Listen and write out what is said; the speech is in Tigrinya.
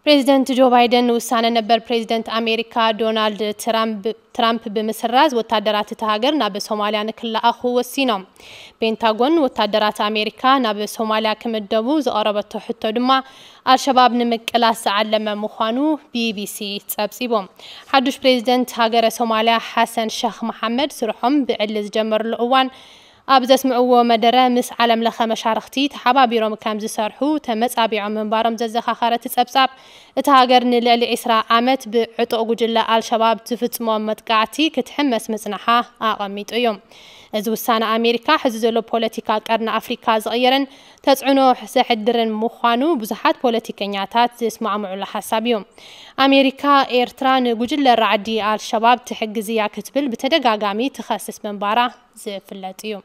ፕሬዚደንት ጆ ባይደን ንውሳነ ነበር ፕሬዚደንት ኣሜሪካ ዶናልድ ትራምፕ ትራምፕ ብምስራዝ፣ ወታደራት እታ ሃገር ናብ ሶማልያ ንክለኣኹ ወሲኖም። ፔንታጎን ወታደራት ኣሜሪካ ናብ ሶማልያ ክምደቡ ዝቐረበቶ ሕቶ ድማ፣ ኣልሸባብ ንምቅላስ ዝዓለመ ምዃኑ ቢቢሲ ጸብጺቡ። ሓዱሽ ፕሬዚደንት ሃገረ ሶማልያ ሓሰን ሸኽ መሓመድ ስርሖም ብዕሊ ዝጀመርሉ እዋን ኣብ ዘስምዕዎ መደረ፣ ምስ ዓለም ለኸ መሻርኽቲ ተሓባቢሮም ከም ዝሰርሑ ተመጻቢዖም ምንባሮም ዘዘኻኸረ እቲ ጸብጻብ፣ እታ ሃገር ንልዕሊ ዕስራ ዓመት ብዕጡቕ ጉጅለ ኣልሸባብ ዝፍጽሞ መጥቃዕቲ ክትሕመስ ምጽናሓ ኣቐሚጡ እዩ። እዚ ውሳነ ኣሜሪካ፣ ሕዚ ዘሎ ፖለቲካ ቀርኒ ኣፍሪካ ዝቕይርን ተጽዕኖ ዘሕድርን ምዃኑ ብዙሓት ፖለቲከኛታት ዝስማዕምዑሉ ሓሳብ እዩ። ኣሜሪካ፣ ኤርትራ ንጉጅለ ራዕዲ ኣልሸባብ ትሕግዝ እያ ክትብል ብተደጋጋሚ ትኸስስ ምንባራ ዝፍለጥ እዩ።